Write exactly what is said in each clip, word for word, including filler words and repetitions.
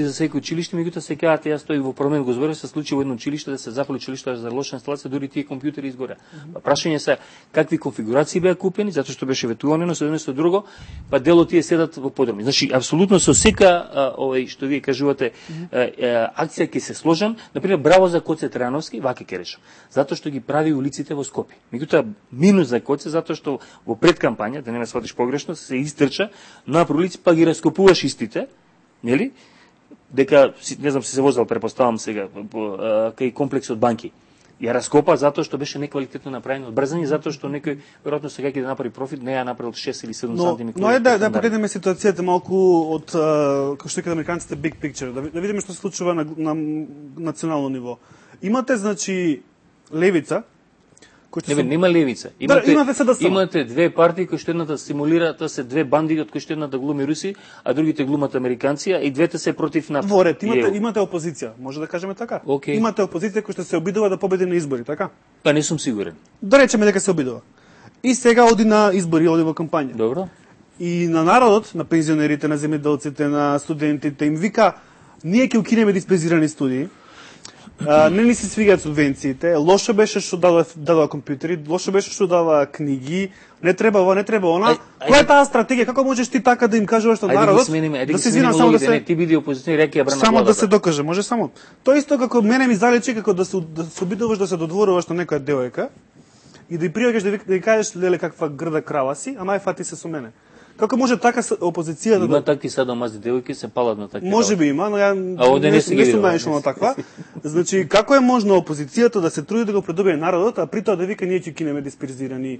за секој училиште, меѓутоа се кажат, јас тој во парламент го зборев, се случи во едно училиште да се запали училиште за лоша инсталација, дури тие компјутери изгоря. Mm -hmm. Прашање се какви конфигурации беа купени, затоа што беше ветувано со едно со друго, па дело тие седат во подроми. Значи апсолутно со сека овој што вие кажувате mm -hmm. акција ќе се сложам, например браво за Коце Трановски, вака ќе речам. Затоа што ги прави улиците во Скопје. Меѓутоа минус за Коце затоа што во предкампања, да не ме сватиш погрешно, се истрча на улици па ги раскопуваш истите, нели? Дека, не знам, се се возел, препоставам сега, кај комплексот банки. Ја раскопа затоа што беше неквалитетно направено од брзање, затоа што некој веројатно сега ќе да направи профит, не ја направил шест или седум сантиметри. Но е да, да погледнеме ситуацијата малку од, како што кажат американците, big picture, да, да видиме што се случува на, на национално ниво. Имате, значи, левица, Не, бе, нема левица. Имате, да, имате, да имате две партии кои што едната симулира, тоа се две банди од кои што едната глуми руси, а другите глумат американци, и двете се против нафта. Во ред, имате, имате опозиција, може да кажеме така. Okay. Имате опозиција која што се обидува да победи на избори, така? Па не сум сигурен. Да речеме дека се обидува. И сега оди на избори, оди во кампања. Добро. И на народот, на пензионерите, на земјоделците, на студентите им вика: ние ќе укинеме диспензирани студии. Uh, не ни се свигаат субвенциите, лошо беше што дава, дава компјутери, лошо беше што дава книги, не треба ова, не треба она. Која е таа стратегија? Како можеш ти така да им кажуваш што народот? Да се извинам само да се не, ти биди опозиционер, реки ја брана само владата. Да се докаже, може само. Тоа исто како мене ми заличи како да се да се обидуваш да се додворуваш на некоја девојка и да ја пријагаш да, да ја кажеш леле каква грда крава си, а најфати се со мене. Како може така опозицијата има да... такви садомазни девојки се палат на такви. Може би има, но ја не, не, не сум наишол на таква. Значи, како е можно опозицијата да се труди да го придобие народот, а при тоа да вика ние ќе кинеме диспензирани.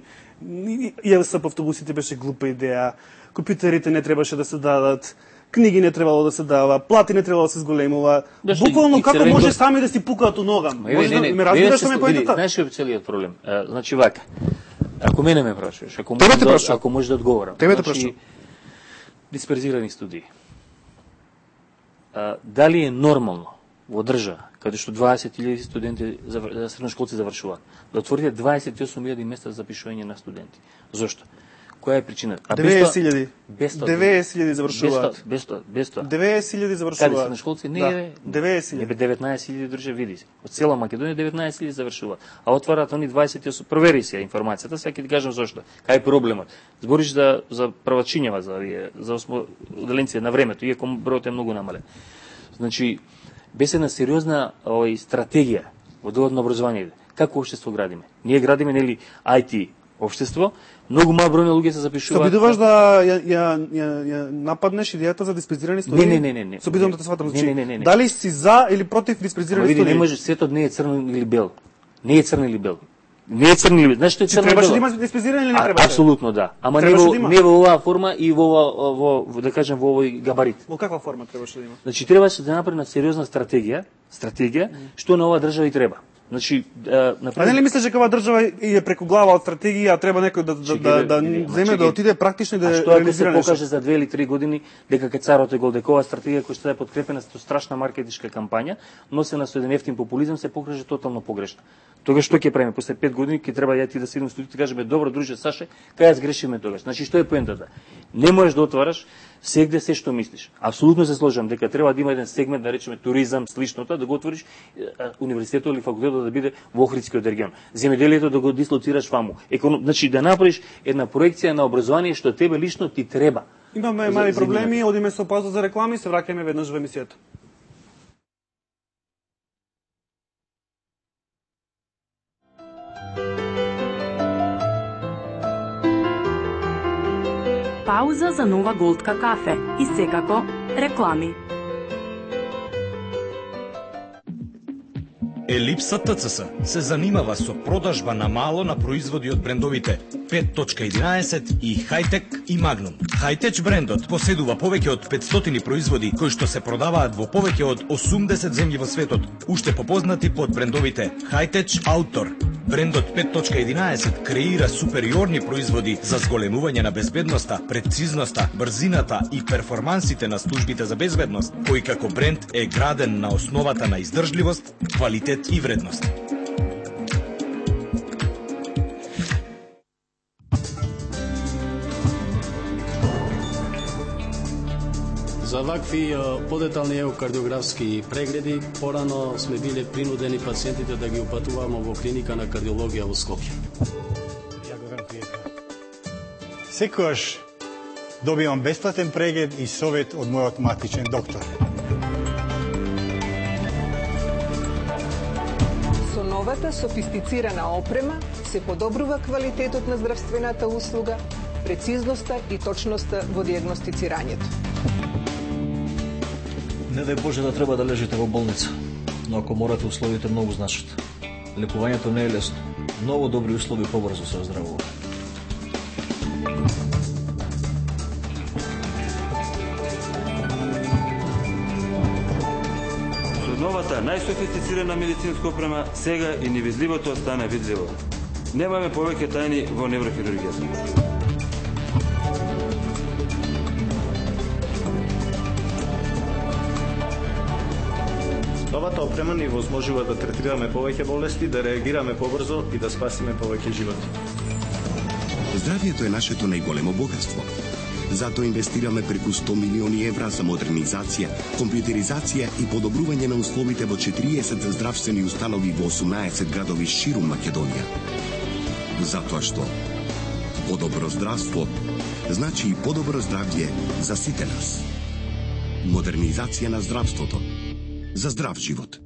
ЕВС по автобусите беше глупа идеја, компјутерите не требаше да се дадат, книги не требало да се дава, плати не требало да се зголемува. Буквално како може го... сами да си пукаат у нога? Може да ме разбираш што ме поетата? Знаеш што е целиот проблем? Значи вака. Ако мене ме прашуваш, ако може да, ако може да одговорам. Тебе те значи, прашувам. Дисперзирани студии. А, дали е нормално во држава каде што дваесет илјади студенти за средношколци завршуваат, да отворите дваесет и осум илјади места за запишување на студенти? Зошто? Која е причината? деветдесет илјади. деветдесет илјади завршуваат. Без тоа, без тоа. деветдесет илјади завршуваат. Каде средношколци? Не, да. деветдесет илјади. Не бе деветнаесет илјади друже види. Од цела Македонија деветнаесет илјади завршуваат, а отвараат они дваесет и осум. Провери си ја информацијата, сега ќе ти кажам зошто. Кај е проблемот? Збориш за за првачињава за овие за осмоделенци на времето, иако бројот е многу намален. Значи, без една сериозна овој стратегија во делот на образованието. Како општество градиме? Ние градиме нели ај ти општество, многу мал број на луѓе се запишуваат. Се обидуваш да ја, ја, ја, ја нападнеш идејата за диспензирани студии? Не, не, не, не. Се обидувам да те сватам. Не, не, не, не, не. Дали си за или против диспензирани студии? Види, не може, светот не е црно или бел. Не е црно или бел. Не е црно или бел. Знаеш што е црно или бел? Требаше да има диспензирани или не требаше? Апсолутно да. Ама не во, не во оваа форма и во во, во да кажем во овој габарит. Во каква форма требаше да има? Значи требаше да направи на сериозна стратегија, стратегија што на оваа држава и треба. Значи, например... А не ли мислиш дека ова држава е преку глава од стратегија, а треба некој да да да, да земе да отиде практично и да реализира? А што ако се покаже за две или три години дека кај царот е гол, дека оваа стратегија која што е подкрепена со страшна маркетичка кампања, носена со еден ефтин популизам, се покаже тотално погрешна. Тогаш што ќе правиме? После пет години ќе треба ја ти да седнем во студиото и кажеме: добро друже Саше, кај ја сгрешиме тогаш. Значи што е поентата? Не можеш да отвараш сегде се што мислиш. Апсолутно се сложам дека треба да има еден сегмент, да речеме туризам, сличното, да го отвориш универзитетот или факултетот да биде во Охридскиот регион. Земјоделието да го дислоцираш ваму. Економ... Значи да направиш една проекција на образование што тебе лично ти треба. Имаме мали проблеми, одиме со пауза за реклами и се враќаме веднаш во емисијата. Пауза за нова голтка кафе и секако реклами. Елипса ТЦС се занимава со продажба на мало на производи од брендовите пет точка единаесет и Хайтек и Магнум. Хайтеч брендот поседува повеќе од петстотини производи кои што се продаваат во повеќе од осумдесет земји во светот, уште попознати под брендовите Хайтеч Аутор. Брендот пет точка единаесет креира супериорни производи за зголемување на безбедноста, прецизноста, брзината и перформансите на службите за безбедност, кој како бренд е граден на основата на издржливост, квалитет и вредност. За За вакви подетални еукардиографски прегледи порано сме биле принудени пациентите да ги упатуваме во клиника на кардиологија во Скопје. Ја го верам пријател. Секогаш добивам бесплатен преглед и совет од мојот матичен доктор. Со новата софистицирана опрема се подобрува квалитетот на здравствената услуга, прецизноста и точноста во дијагностицирањето. Не дај Боже да треба да лежите во болница, но ако морате, условите многу значат. Лекувањето не е лесно. Многу добри услови побрзо се оздравува. Со новата најсофистицирана медицинска опрема сега и невидливото стана видливо. Немаме повеќе тајни во неврохирургијата. Новата опрема ни возможува да третираме повеќе болести, да реагираме побрзо и да спасиме повеќе животи. Здравието е нашето најголемо богатство. Затоа инвестираме преку сто милиони евра за модернизација, компјутеризација и подобрување на условите во четириесет здравствени установи во осумнаесет градови ширум Македонија. Затоа што подобро здравство значи и подобро здравје за сите нас. Модернизација на здравството за здрав живот.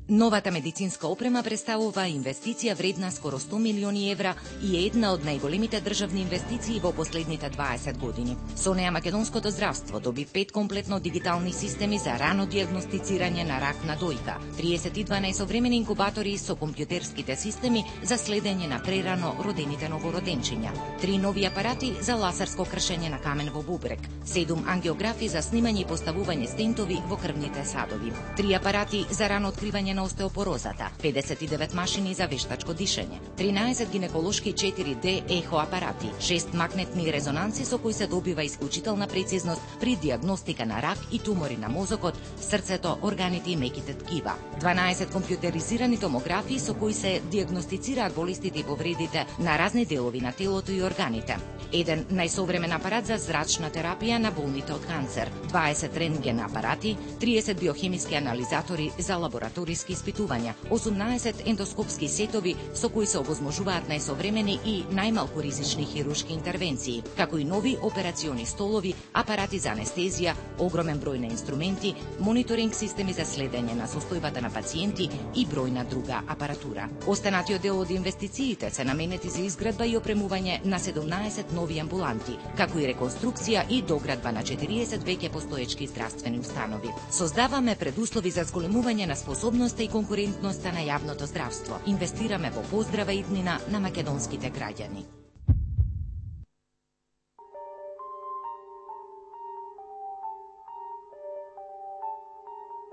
Новата медицинска опрема представува инвестиција вредна скоро сто милиони евра и е една од најголемите државни инвестиции во последните дваесет години. Со неа македонското здравство доби пет комплетно дигитални системи за рано дијагностицирање на рак на дојка, триесет и два најсовремени инкубатори со компјутерските системи за следење на прерано родените новороденчиња, три нови апарати за лазерско кршење на камен во бубрек, седум ангиографи за снимање и поставување стентови во крвните садови, три апарати за рано откривање на остеопорозата, педесет и девет машини за вештачко дишење, тринаесет гинеколошки четири Д ехо апарати, шест магнетни резонанси со кои се добива исклучителна прецизност при дијагностика на рак и тумори на мозокот, срцето, органите и меките ткива, дванаесет компјутеризирани томографии со кои се дијагностицираат болестите и повредите на разни делови на телото и органите, еден најсовремен апарат за зрачна терапија на болните од канцер, дваесет рентген апарати, триесет биохемиски анализатори за лабораториски испитувања, осумнаесет ендоскопски сетови со кои се овозможуваат најсовремени и најмалку ризични хируршки интервенции, како и нови операциони столови, апарати за анестезија, огромен број на инструменти, мониторинг системи за следење на состојбата на пациенти и бројна друга апаратура. Останатиот дел од инвестициите се наменети за изградба и опремување на седумнаесет нови амбуланти, како и реконструкција и доградба на четириесет веќе постоечки здравствени установи. Создаваме предуслови за зголемување на способноста и конкурентноста на јавното здравство. Инвестираме во поздрава иднина на македонските граѓани.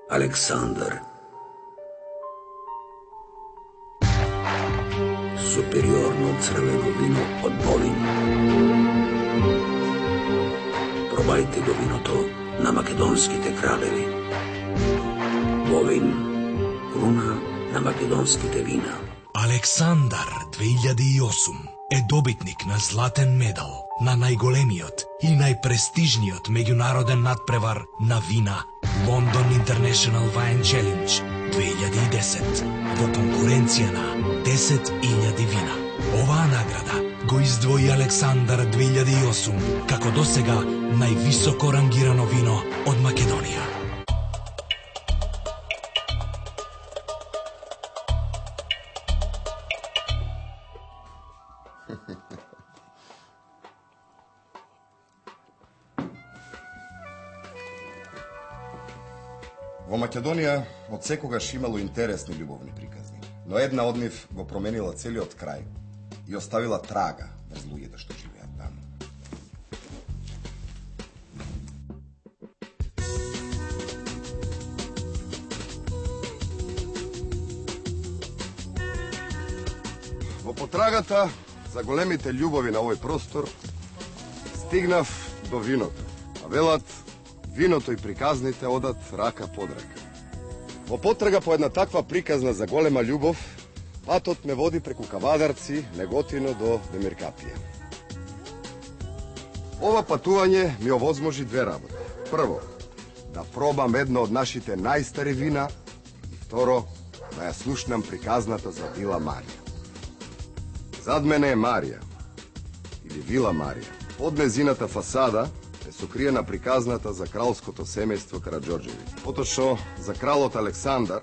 Александар. Супериорно црвено вино од Бовин. Пробајте го виното на македонските кралеви. Бовин, круна на македонските вина. Александар две илјади и осум е добитник на златен медал на најголемиот и најпрестижниот меѓународен надпревар на вина London International Wine Challenge две илјади и десет во конкуренција на десет илјади вина. Оваа награда го издвои Александар две илјади и осум како досега највисоко рангирано вино од Македонија. Во Македонија од секогаш имало интересни љубовни приказни, но една од нив го променила целиот крај и оставила трага меѓу луѓето што живеат таму. Во потрагата за големите љубови на овој простор стигнав до виното, а велат виното и приказните одат рака под рака. Во потрага по една таква приказна за голема љубов, патот ме води преку Кавадарци, Неготино до Демиркапија. Ова патување ми овозможи две работи. Прво, да пробам едно од нашите најстари вина и второ, да ја слушнам приказната за Вила Марија. Зад мене е Марија, или Вила Марија. Под незината фасада е сокриена приказната за кралското семејство Караџорџеви. Поточно за кралот Александар,